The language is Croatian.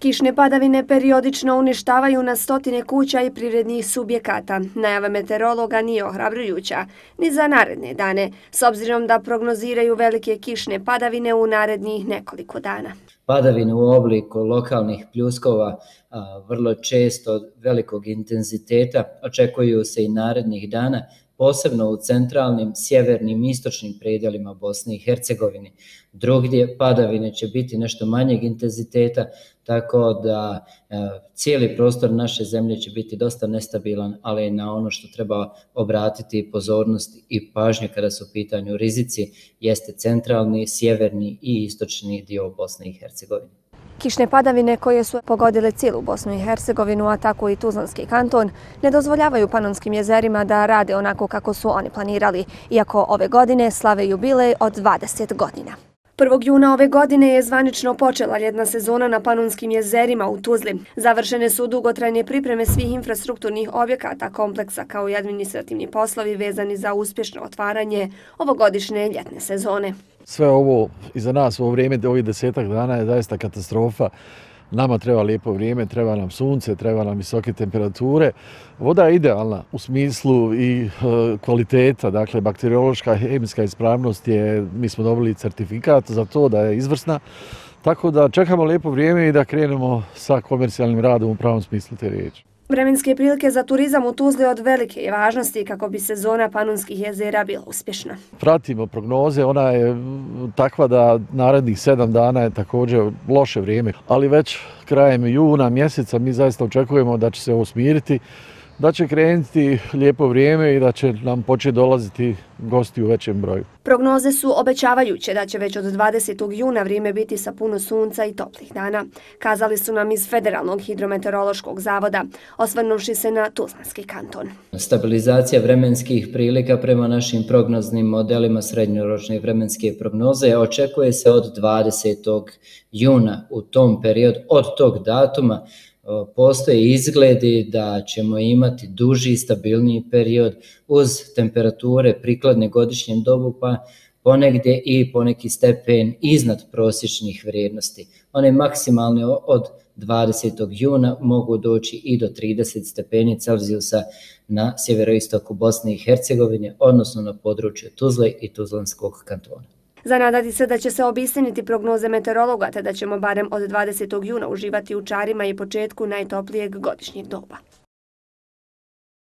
Kišne padavine periodično uništavaju na stotine kuća i privrednih subjekata. Najava meteorologa nije ohrabrujuća ni za naredne dane, s obzirom da prognoziraju velike kišne padavine u narednih nekoliko dana. Padavine u obliku lokalnih pljuskova vrlo često velikog intenziteta očekuju se i narednih dana, posebno u centralnim, sjevernim i istočnim predjelima Bosne i Hercegovine. Drugdje padavine će biti nešto manjeg intenziteta, tako da cijeli prostor naše zemlje će biti dosta nestabilan, ali na ono što treba obratiti pozornost i pažnju kada su u pitanju rizici jeste centralni, sjeverni i istočni dio Bosne i Hercegovine. Kišne padavine koje su pogodile cijelu Bosnu i Hercegovinu, a tako i Tuzlanski kanton, ne dozvoljavaju Panonskim jezerima da rade onako kako su oni planirali, iako ove godine slave jubilej od 20 godina. 1. juna ove godine je zvanično počela ljetna sezona na Panonskim jezerima u Tuzli. Završene su dugotrajne pripreme svih infrastrukturnih objekata kompleksa kao i administrativni poslovi vezani za uspješno otvaranje ovogodišnje ljetne sezone. Sve ovo iza nas u ovo vrijeme, ovih 10 dana je zaista katastrofa. Nama treba lijepo vrijeme, treba nam sunce, treba nam visoke temperature. Voda je idealna u smislu i kvaliteta, dakle bakteriološka, hemijska ispravnost je, mi smo dobili certifikat za to da je izvrsna. Tako da čekamo lijepo vrijeme i da krenemo sa komercijalnim radom u pravom smislu te riječi. Vremenske prilike za turizam u Tuzli od velike je važnosti kako bi sezona Panonskih jezera bila uspješna. Pratimo prognoze, ona je takva da narednih 7 dana je također loše vrijeme, ali već krajem juna mjeseca mi zaista očekujemo da će se ovo smiriti, da će krenuti lijepo vrijeme i da će nam početi dolaziti gosti u većem broju. Prognoze su obećavajuće da će već od 20. juna vrijeme biti sa puno sunca i toplih dana. Kazali su nam iz Federalnog hidrometeorološkog zavoda, osvrnuvši se na Tuzlanski kanton. Stabilizacija vremenskih prilika prema našim prognoznim modelima srednjoročne vremenske prognoze očekuje se od 20. juna. U tom periodu, od tog datuma, postoje izgledi da ćemo imati duži, stabilniji period uz temperature prikladne godišnjem dobu, pa ponegdje i poneki stepen iznad prosječnih vrijednosti. One maksimalne od 20. juna mogu doći i do 30 stepeni Celzijusa na sjeveroistoku Bosne i Hercegovine, odnosno na području Tuzle i Tuzlanskog kantona. Zanadati se da će se obistiniti prognoze meteorologa, te da ćemo barem od 20. juna uživati u čarima i početku najtoplijeg godišnjeg doba.